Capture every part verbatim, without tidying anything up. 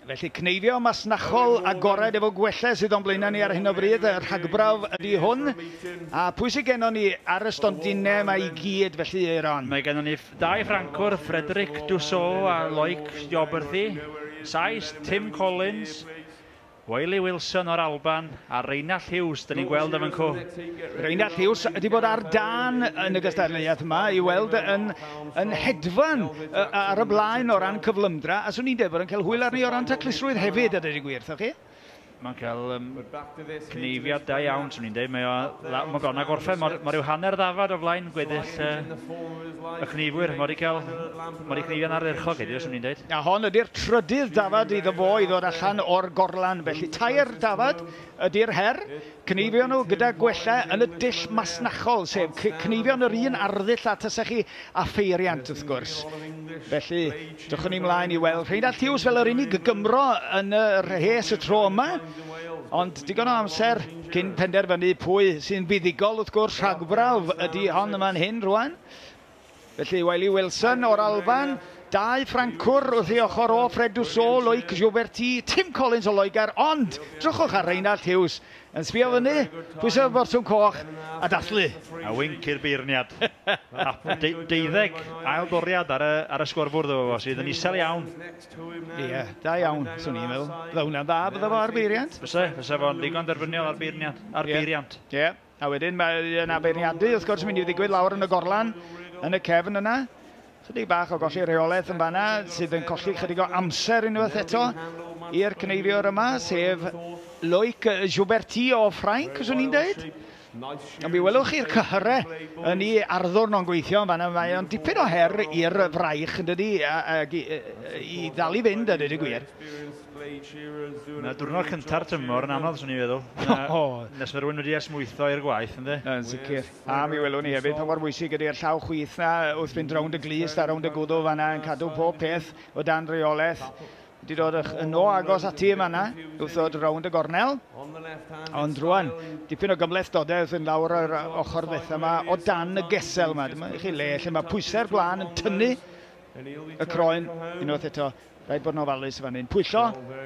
Felly cneifio masnachol agored efo gwellau sydd o'n blaenau ni ar hyn o bryd, y rhagbrawf ydy hwn. A pwy sydd gennon ni ar y stondinau yma i gyd felly, Eiron? Mae gennon ni dau Ffrancwr, Frederic Dussault a Loic Joberthy, Sais Tim Collins, Wiley Wilson o'r Alban a Reinald Hughes, dyn ni'n gweld am yn cw. Reinald Hughes ydy bod ar dan yn y gystadleuaeth yma i weld yn, yn hedfan ar y blaen o ran cyflymdra, a swn i'n dweud bod yn cael hwyl arni o ran taclusrwydd hefyd, a dweud y gwir, wrthoch chi? Mae'n cael um, cneifiad da iawn, swn i'n dweud. Mae o, mae bron â gorffen, mae rhyw hanner ddafad o flaen gweddill uh, y cneifwyr. Mae wedi cael, mae wedi cneifio'n ardderchog heddiw, swn i'n dweud. A hon ydy'r trydydd dafad iddo fo i ddod allan o'r gorlan. Felly tair dafad ydy'r her. Cneifio nhw gyda gwella yn y dull masnachol, sef cneifio'n yr un arddull a tasech chi a pheiriant, wrth gwrs. Felly, drychwn ni mlaen i weld Reinald Hughes fel yr unig Gymro yn y rhes y tro yma. Ond digon o amser cyn penderfynu pwy sy'n fuddugol, wrth gwrs, rhagbrawf ydy hon yma'n hyn rwan. Felly Wiley Wilson o'r Alban, dau Ffrancwr wrth ei ochr o, Fred Dussault, Loic Joberty, Tim Collins o Loegr, ond drychwch ar Reinald Hughes yn sbio fyny, pwyso botwm coch a dathlu. A winc i'r beirniad. De deuddeg ail doriad ar y, ar y sgorfwrdd efo fo, sydd yn isel iawn. Ie, yeah, da iawn, swn i'n meddwl. Bydda hwnna'n dda, bydda fo ar beiriant? Fyse, fyse fo'n ddigon derbyniol ar beirniad, ar yeah. beiriant. Ie, yeah. A wedyn mae yna beirniadu, wrth gwrs, yn mynd i ddigwydd lawr yn y gorlan, yn y cefn yna. Chydig bach o golli reolaeth yn fanna, sydd yn colli chydig o amser unwaith eto i'r cneifiwr yma, sef Loic Jouberty o Ffrainc, swn i'n dweud. Ond mi welwch chi'r cyhyrau yn ei arddwrn o'n gweithio yn fanna, mae o'n dipyn o her i'r fraich, yn dydi, a, a, i ddal i fynd, a dweud y gwir. Na diwrnod cynta'r tymor yn anodd, swn i'n feddwl. Na, nes mae rhywun wedi esmwytho i'r gwaith, ynddi? Yn sicr. A mi welwn ni hefyd pa mor bwysig ydy'r llaw chwith na wrth fynd rownd y glust a rownd y gwddw fanna yn cadw pob peth o dan reolaeth. Wedi dod yn o agos ati yma na, wrth ddod rownd y gornel. Ond rwan, dipyn o gymhlethdodau wrth fynd lawr yr ochr ddetha yma o dan y gesel yma. Dyma i chi le lle mae pwysau'r gwlân yn tynnu y croen unwaith eto. Rhaid bod yn ofalus fan hyn. Pwyllo,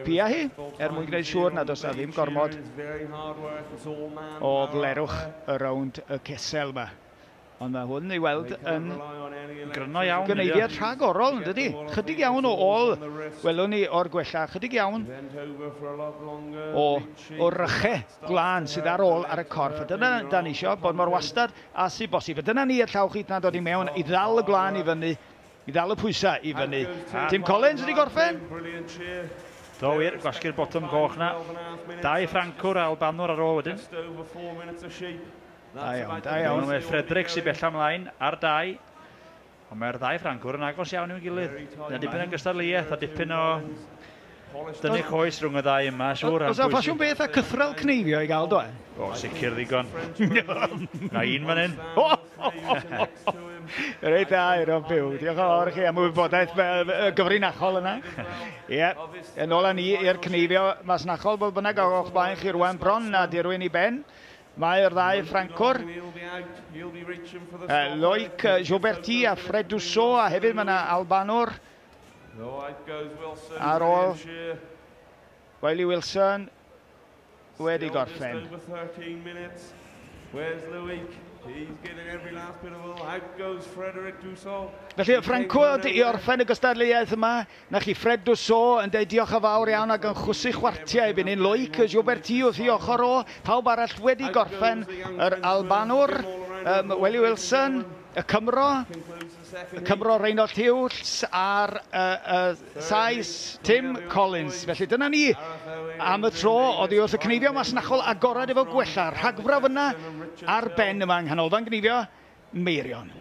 pia hi, er mwyn gwneud siŵr nad oes na ddim gormod o flerwch y rownd y cesel yma. Ond mae hwn i weld yn gryno iawn. Gyneifiad rhagorol, yn dydi? Chydig iawn o ôl, welwn ni o'r gwella, chydig iawn o, o rychau gwlân sydd ar ôl ar y corff. A dyna da ni isio, bod mor wastad a sydd bosib. A dyna ni y llaw chwith na'n dod i mewn i ddal y gwlân i fyny, i ddal y pwysau i fyny. Tim Collins wedi gorffen? Do wir, gwasgu'r botwm coch na. Dau Ffrancwr a Albanwr ar ôl wedyn. Da iawn, da iawn. Mae Frederic sy'n bella ymlaen ar dau. Ond mae'r ddau Ffrancwr yn agos iawn i'w gilydd. Yna dipyn o gystadleuaeth a dipyn o dynnu coes rhwng y ddau yma, siŵr. Oes 'na ffasiwn beth a cythrel cneifio i gael, do e? O, sicr ddigon. Na un fan hyn. Reit dda, Eiron Pugh. Diolch yn fawr i chi am wybodaeth gyfrinachol yna. Ie, yn ôl â ni i'r cneifio masnachol, bodd bynnag o'ch blaen chi rwan bron a dirwyn i ben. Mae'r ddau Ffrancwr, Loic Jouberty a Fred Dussault, a hefyd mae yna Albanwr ar ôl Wiley Wilson wedi gorffen. Felly, Ffrancwr i orffen y gystadleuaeth yma, na chi Fred Dussault yn dweud diolch yn fawr iawn ac yn chwysu chwartiau erbyn hyn. Loic Jouberty wrth ei ochr o, pawb arall wedi gorffen, yr Albanwr, um, Wiley Wilson, y Cymro, y Cymro Reinald Hughes a'r uh, uh, Sais Tim Collins. Felly dyna ni am y tro oddi wrth y cneifio masnachol agorad efo gwella. Rhagfrawf yna ar ben yma yng Nghanolfan Gneifio Meirion.